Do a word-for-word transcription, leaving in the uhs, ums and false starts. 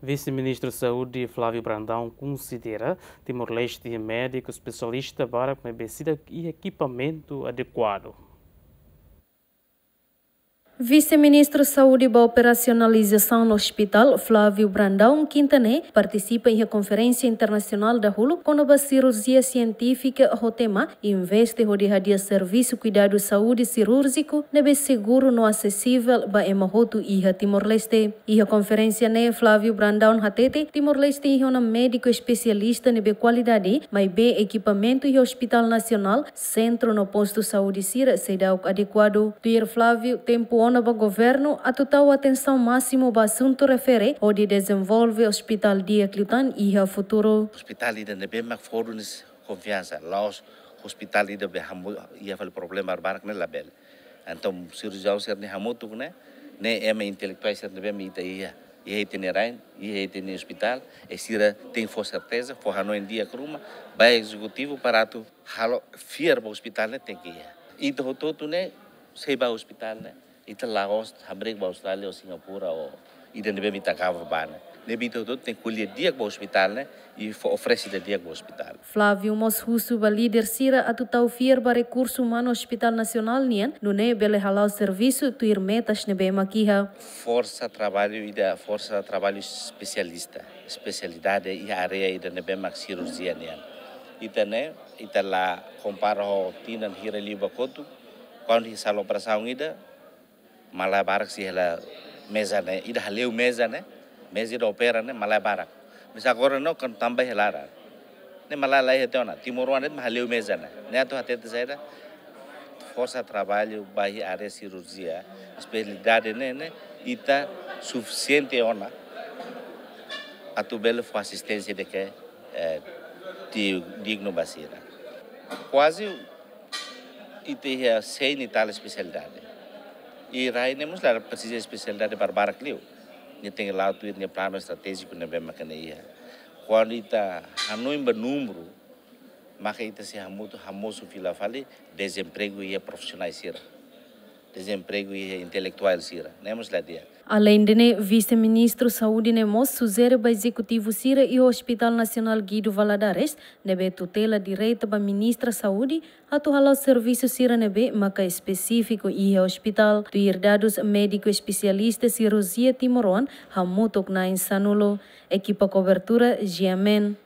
Vise-Ministru Saúde Flávio Brandão konsidera Timor-Leste iha médiku espesialista barak maibé seidauk iha ekipamentu adekuadu. Vise-Ministru Saúde ba Operasionalizasaun Ospitál, Flávio Brandão, kinta ne'e, partisipa iha konferénsia internasionál dahuluk kona-ba sirurjia sientífika ho tema investe hodi hadi'a servisu kuidadu saúde sirúrjiku ne'ebé seguru no asesivel ba ema hotu iha Timor-Leste. Iha konferénsia ne'e, Flávio Brandão hatete, Timor-Leste iha ona médiku espesialista ne'ebé kualidade, maibé ekipamentu iha Ospitál Nasionál, sentru no postu saúde sira seidauk adekuadu. Tuir Flávio, tempu ona ba governu atu tau atensaun másimu ba asuntu refere hodi dezenvolve ospitál di'ak liután iha futuru. Ospitál ida ne'ebé mak fó duni konfiansa, la'ós ospitál ida be hamu iha fali problema barak ne'e labele. Entaun sirurjiaun sira-ne'e hamutuk ne'e, ne'e ema intelektuál sira ne'ebé mak ita iha, iha ita-nia rain, iha ita-nia ospitál, e sira tenke fó serteza, fó hanoin di'ak ruma ba ezekutivu para atu halo fiar ba ospitál ne'e tenke iha. Ita hotu-hotu ne'e sei ba ospitál ne'e, ita la'ós hamriik ba Austrália ou Singapura ou ida ne'ebé mak ita gava ba ne'e. Ne'ebé ita hotu-hotu tenke ko'alia di'ak ba ospitál ne'e, i fó oferese ida di'ak ba ospitál. Flávio mós husu ba líder sira atu tau fiar ba rekursu umanu Ospitál Nasionál nian, nune'e bele hala'o servisu tuir metas ne'ebé mak iha. Forsa traballu ida, forsa traballu espesialista, espesialidade iha área ida ne'ebé mak sirurjia nian. Ita ne'e, ita la kompara ho tinan hira liubá kotuk, kuandu iha sala operasaun ida, malae barak sei hela meza ne'e, ida hale'u meza ne'e, meza ida opera ne'e, malae barak. Mas agora ne'e, kuandu tama ba iha laran ne'e, malae la iha tiha ona, timoroan de'it mak hale'u meza ne'e. Ne'e atu hatete saida, forsa traballu ba iha área sirurjia, espesialidade ne'e, ne'e, ita sufisiente ona atu bele fó asisténsia ida ke, eh, di-, dignu ba sira. Kuaze ita iha cem e tal espesialidade. I rai ne'e mós la presiza espesialidade barbarak liu. Nia tenke la'o tuir nia planu estratéjiku ne'ebé maka nia iha. Kuandu ita hanoin ba númeru, maka ita sei hamutuk hamosu fila fali dezempregu iha profisionál sira. Dezempregu iha intelektuál sira. Ne'e mós la di'ak. Aleinde ne'e, Vise-Ministru Saúde ne'e mós sujere ba ezekutivu sira iha Ospitál Nasionál Guido Valadares, ne'ebé tutela direta ba Ministra Saúde, atu hala'o servisu sira ne'ebé maka espesífiku iha ospitál. Tuir dadus médiku espesialista sirurjia timoroan hamutuk na'in sanulu. Ekipa kobertura, G M N.